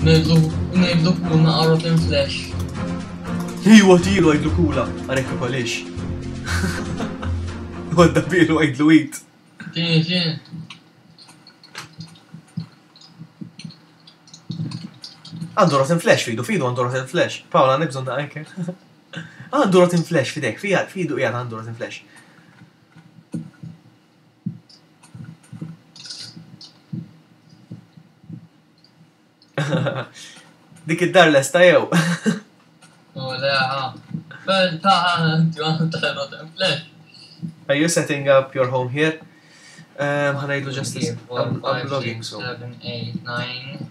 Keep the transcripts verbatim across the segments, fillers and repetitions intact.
Ngħidlu ngħidlu kuna rotten flesh. Iwa tilu għidlu kula, għarek kolix. Għadda bilu għidlu eat. Ġini ġini. Għandu rotten flesh fidu, fidu għandu rotten flesh. Paola, għandek bżonn anke. Għandu rotten flesh fidek, fija, fidu qiegħed għandu rotten flesh. Dik id-dar lesta jew. U le, ha. Bel ta' inti għandu ta' rotten flesh. Are you setting up your home here? Um, ħa ngħidlu just Three, four, I'm, I'm five, vlogging, six, so. seven, eight, nine,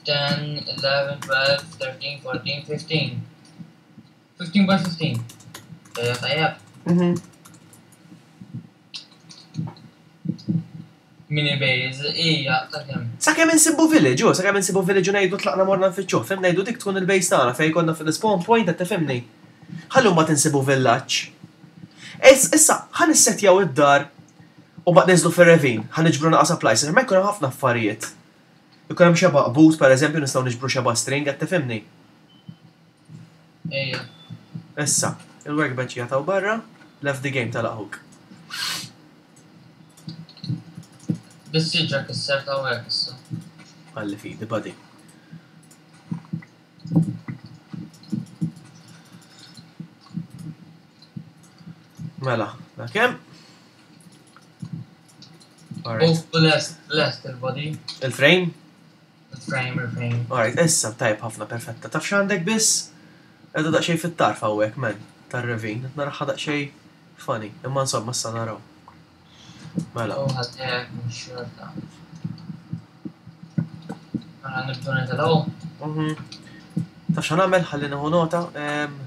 ten, eleven, twelve, thirteen, fourteen, fifteen. Fifteen by fifteen. Tajjeb, tajjeb. Mhm. Mini base, ija, ta' kemm. Sakemm insibu village, u sakemm insibu village u ngħidu tlaqna morna nfittxuh, fim ngħidu dik tkun il-base tagħna fejn konna fil-spawn point qed tifhimni. Ħallu mbagħad insibu villaġġ. Is- Issa, ħa nissetjaw id-dar u mbagħad niżlu fir-ravine, ħa niġbru naqa' supplies, ma jkun hemm ħafna affarijiet. Ikun hemm xeba boot pereżempju nistgħu niġbru xeba string qed tifhimni. Ija. Issa, il-workbench jagħtaw barra, left the game tal-aħuk. Bis-siġra kisser ta' hekk issa. Għalli fidi, buddy. Mela, da kemm? Alright. U lest, lest il-body. Il-frame? Il-frame, il-frame. Alright, issa tajb ħafna perfetta. Taf x'għandek biss? Edha daqsxejn fit-tarf hawnhekk, men, tar-ravine. Naraħħa daqsxejn funny, imma insomma issa naraw. Mela. U ħaddek mhux xorta. Mela nibdu nitilgħu. Mhm. Taf x'ħa nagħmel? Ħalli nieħu nota. Em,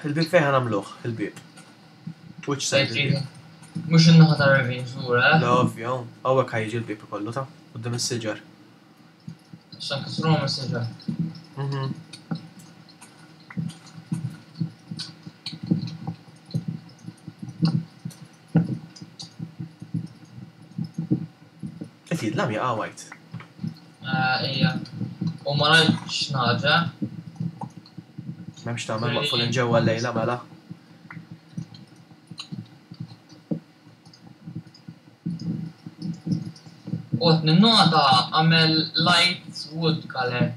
Il-bieb fejn ħa nagħmluh, il-bieb. Which side il-bieb? Mhux in-naħa ta' ravine żgur, eh? La ovvja, hawnhekk ħa jiġi l-bieb ikollu ta' quddiem is-siġar. Issa nkissruhom is-siġar. Mhm. Qed jidlam jaqa' white. Eh, Ija. U ma rajtx naġa. M'hemmx tagħmel maqfulin ġewwa llejla mela. U qed ninnota għamel light wood color.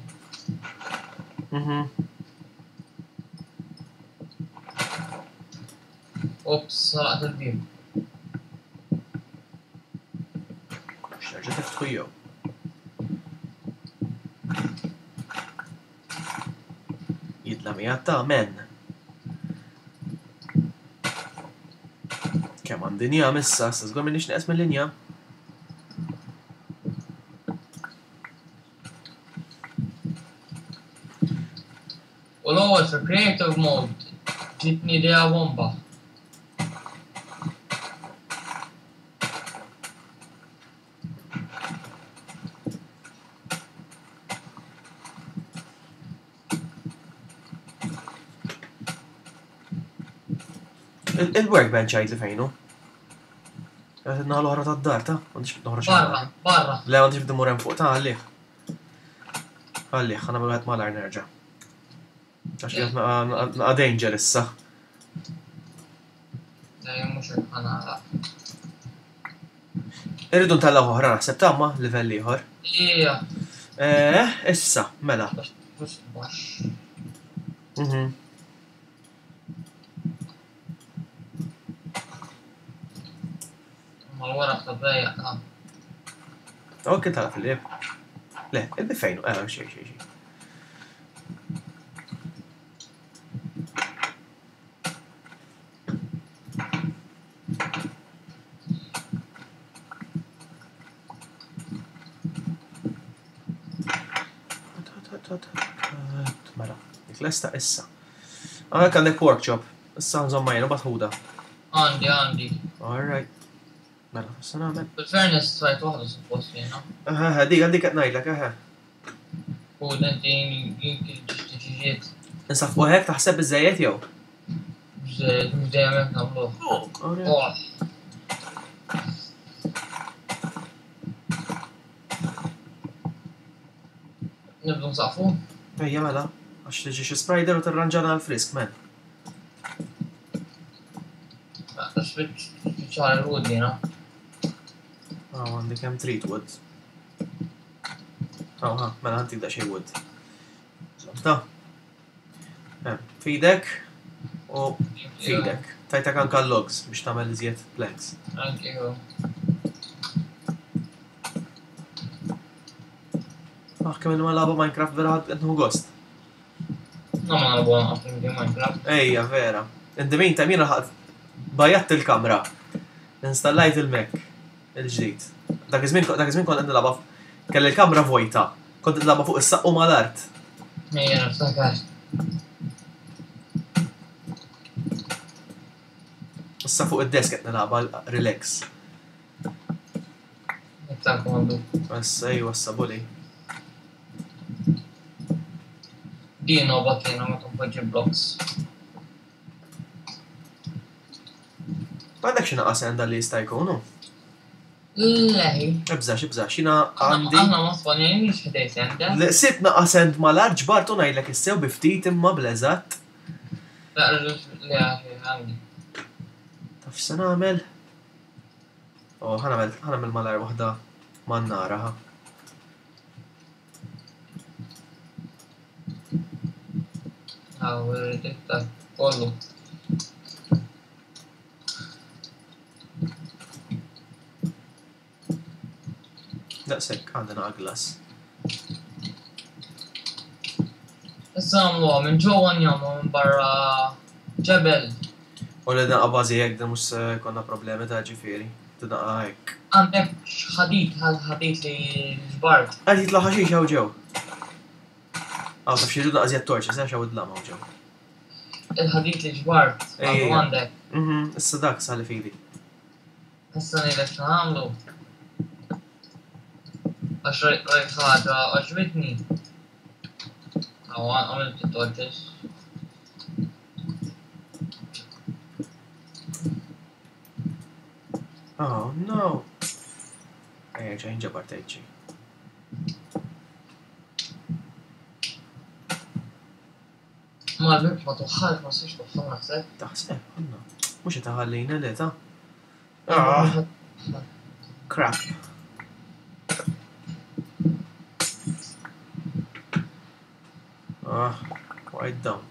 Mhm. Ops, saraqt il-bieb. X'terġa' tiftħu jew. Jidlam qiegħed ta' men. Kemm għandi njam issa, issa żgur m'inhiex neqes mill-injam. U l-ewwel fi creative mode ġitni idea bomba. Il- Il-workbench għid li fejnu. Għed naħa l-oħra tad-dar ta' m'għandix noħroġ Barra, barra. Le m'għandix bdi hemm fuq ta' għalih. Għalih, ħa nagħmel wieħed malajr nerġa'. Għax qiegħed naqa' naqa' danger issa. Dejjem mhux hekk ħa nagħlaq. Irridu ntellaw oħra naħseb tamma livell ieħor. Ija. Eh, issa, mela. Biex baxx. Mhm. Ma l-waraq ta' dejjaq ta' Ok, tala fil-lib. Le, il-bib fejnu, eh, xej, xej, xej. Mela, dik lesta issa. Għalhekk għandek workshop. Issa nżomma jenu batħuda. Għandi, għandi. All right. Mela, issa nagħmel. Bil-fairness trajt waħda suppost jiena. Aha, dik għandik qed ngħidlek, aha. U inti jinki ġiġiet. Insaf hekk taħseb biżejjed jew? Mhux dejjem hekk nagħmluh. Alright. Oh. Nibdu nsaqfu. Ejja mela, għax tiġi xi spider u tirranġana l-frisk, men. Spiċċar il-wood jiena. Ah, għandi kemm trid wood. Ah, ha, mela għandik daqsxejn wood. Ta. Eh, Fidek u fidek. Tajtak anka logs biex tagħmel iżjed planks. Thank you. Ah, kemm ma lagħba Minecraft vera ħadd qed nieħu gost. No ma nagħbu għan Minecraft. Ejja, vera. In the meantime, jiena ħadd bajjatt il-kamra. Installajt il-Mac il-ġdid. Dak iż-żmien dak iż-żmien kont qed nilgħabha kelli l-kamra vojta. Kont nilgħabha fuq is-saqqu mal-art. Ejja, niftakar. Issa fuq id-desk qed nilgħabha relax. Iktar komdu. Issa ejwa issa bully. Din nobgħod jiena meta npoġġi blocks. Għandek xi naqas għandha li jista' jkunu? Leħi. Ibżax, ibżax, jiena għandi. Aħna ma spawnejniex ħdej senda. Li Sibt naqas end mal-art ġbartu ngħidlek issew bi ftit imma bl-eżatt. Le għandi. Taf x'se nagħmel? Oh, ħa nagħmel ħa nagħmel malajr waħda man-nara ħa. Għaw, iktar kollu. Daqshekk għandna glass. Issa nagħmluha minn ġewwa njamlu minn barra ġebel. U li naqa bażi hekk da mhux se jkollna problemi ta' ġifieri. Tinaqa hekk. Għandek ħadid, ħadid li ġbart. Qed jitla' ħaxix hawn ġew. Aw taf xi rridu naqas torċi, se hawn id-dlam hawn ġew. Il-ħadid li ġbart, għandu Ejja. għandek. Mhm, issa dak sali fidi. Issa ngħidlek x'nagħmlu. Għax rajt rajt ħaġa għoġbitni. Aw għamilt it-torches. Oh no. Ejja ġejn ġabar tgħid Ma l-bib ma tuħħalx, ma siex tuħħal naħseb. Taħseb, għandna. Mhux qed taħallina le ta' Ah, crap. Ah, waqgħet down.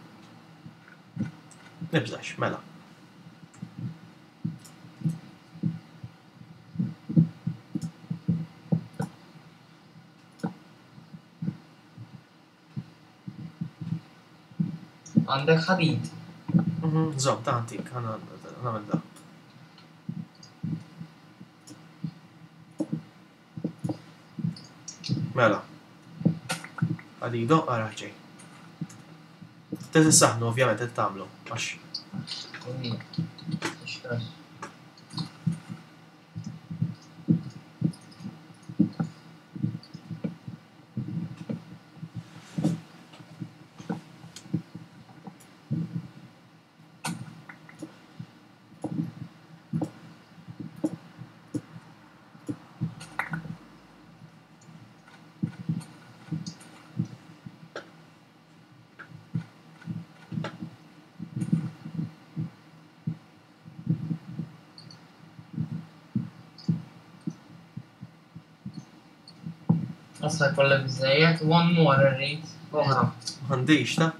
Nibżax, mela. Għandek ħadid. Mhm, Żomm, ta' antik, ħa nagħmel da. Mela. Għadido, ara ġej. Trid issaħnu, ovvjament, qed tagħmlu, għax Ixtras. Issa jkollek biżejjed, one more irrid, oħra. m'għandix ta'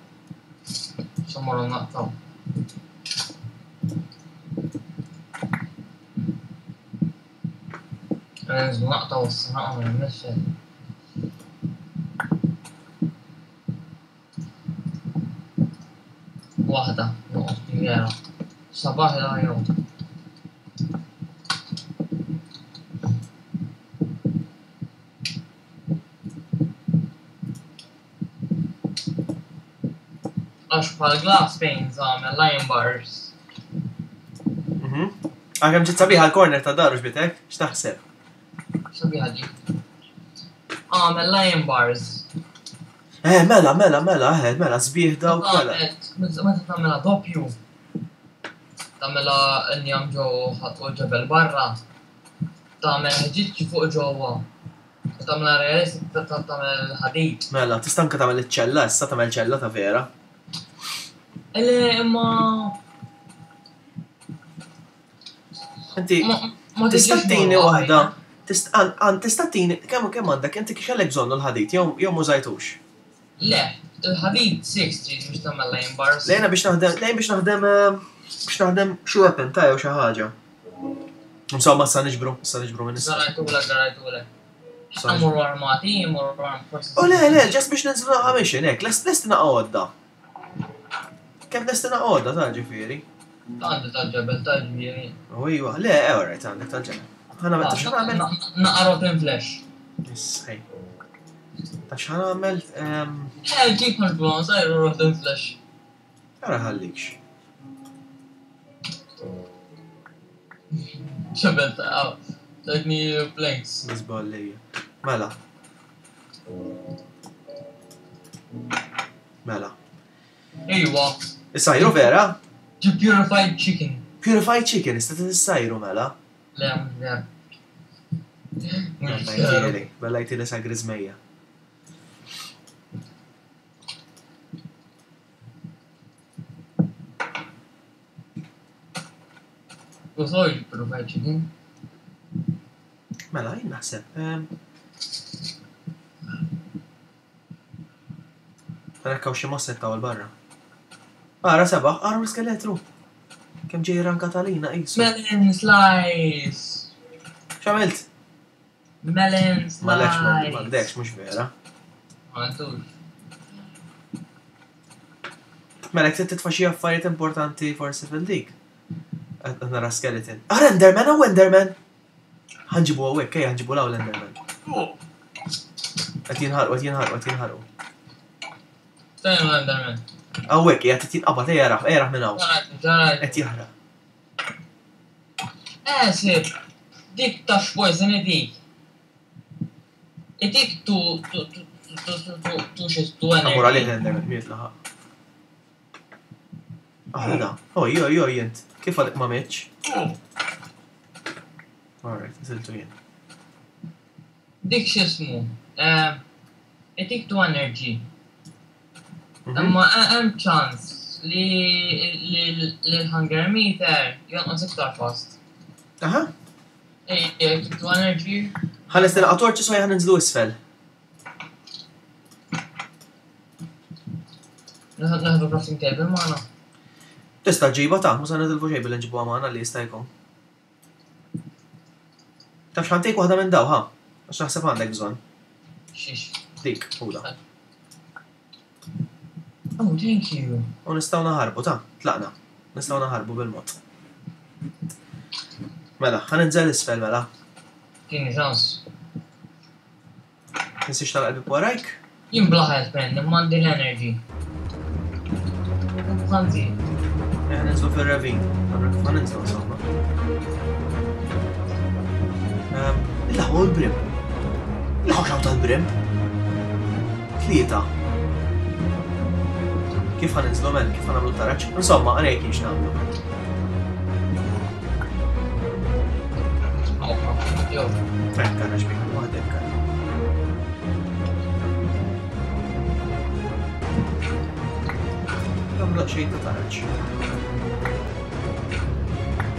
X'mmorru naqtaw. Nżu naqtaw issa naqgħu nixxel. Waħda, noqgħod vera. Sabaħ il jew. Għax bħal glass panes għamel lion bars. Mhm. Għakem ġiet sabiħa l-corner ta' daru xbitek, x'taħseb? Sabiħa ġi. Għamel lion bars. Eh, mela, mela, mela, eh, mela, sbieħ dawk, mela. Meta tagħmilha doppju. Tagħmilha injam ġo u ġebel barra. Tagħmel ħġiġ fuq ġewwa. Tagħmel realistic tagħmel ħadid. Mela, tista' anke tagħmel iċ-ċella, issa tagħmel ċella ta' vera. Le, imma. Inti Ma tista' tiġix tini morra waħda. ħajja. Tista' għan- għan tista' tini kemm kemm għandek inti kellek bżonnu l-ħadid jew jew mużajtux. Le, il-ħadid sitta trid biex tagħmel iron bars. Lejna biex naħdem, lejn biex naħdem eh, biex naħdem xi weapon ta' jew xi ħaġa. Insomma, sa niġbru, sa niġbru minn issa. Zarajtulek, zarajtulek. Sa niġbru. Mmorru armati, mmorru armati. forsi. U le, le, just biex ninżlu naqa mission, hekk, lest lesti naqa għodda. Kemm lesti naqa għodda ta' ġifieri. Għandi tal-ġebel tal-ġifieri. U iwa, le, eh, alright, għandek tal-ġebel. Ħa nagħmel, taf x'ħa nagħmel? Naqa rotten flesh. Issej. Taf x'ħa nagħmel? Ehm, Eh, ġib mhux sajru rotten flesh. Ara ħallikx. Ġebel ta' tajtni planks. Nizballija. Mela. Mela. Ejwa, Is-sajru vera? ġib purified chicken. Purified chicken, ista t-sajru mela. Le, mhux vera. Bella Mhux vera. jtili, bella jtili sa grizmeja. U soj purified chicken. Mela, jien naħseb. ehm, Rekkaw xi mosset taw barra. Ara sebaħ, ara l-skeletru. Kemm ġej ranka talina qisu. Melon slice. X'għamilt? Melon slice. M'għalekx m'għandekx mhux vera. Ma għandux. Mela jekk titfa' xi affarijiet importanti forsi fil-dik. Qed nara skeleton. Ara Enderman, hawn Enderman! Ħa nġibu hawnhekk, ejja ħa nġibu 'l hawn l-Enderman. Qed jinħarqu, qed jinħarqu, qed jinħarqu. Fejn l-Enderman? Hawnhekk qiegħed qed jinqabad, ejja rah, ejja rah minn hawn. Ġarajt, ġarajt. Qed jaħraq. Eh, sib, dik ta' poison dik. Itik tu, tu, tu, tu, tu, tu, tu, tu, xis, tu Ħa mmur għalih energy. l-Enderman, miet laħaq. Ah, da. Oj, oj, oj, jent. Kif għadek ma mitx? Alright, nżiltu jien. Dik x'ismu, eh, itik tu energy. Mhm. Imma hemm ċans li li li l-hunger meter jonqos iktar fast. Aha. Ej, itik tu energy. Ħa nlesti naqa torċi so ħa ninżlu isfel. Naħdu crafting table magħna. Tista' ġiba ta' mhux se nitilfu xejn billi nġibuha magħna li jista' jkun. Taf x'ħa ntik waħda minn daw, ha? Għax naħseb għandek bżonn. Xiex. Dik, ħuda. Oh, thank you. U nistgħu naħarbu, ta' tlaqna. Nistgħu naħarbu bil-mod. Mela, ħa ninżel isfel mela. Tini ċans. Tinsiex tagħlaq warajk? Jien bla health man, imma għandi l-energy. Ħanzi. Ħa ninżlu fil-ravine. Ħa ninżlu insomma. Ehm, Il-ħu l-brim. Il-ħu xaw tal-brim. Tlieta. Kif ħa ninżlu men, kif ħa nagħmlu taraġ? Insomma, għalhekk kienx nagħmlu. Jo. Hekk taraġ bik, waħdek. Nagħmlu xejn ta' taraġ.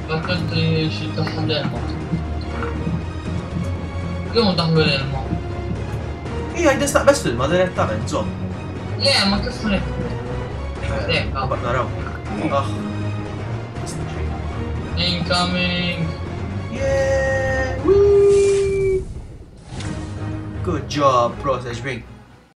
Fakkart li xi daħħal l-ilma. Jew daħlu l-ilma. Ija, jidistaq bes fil-ma direttament, żomm. Le, ma kif ħa Ecco. Mbagħad naraw. Ah. Incoming! Yeah! Whee! Good job, proset ġbin.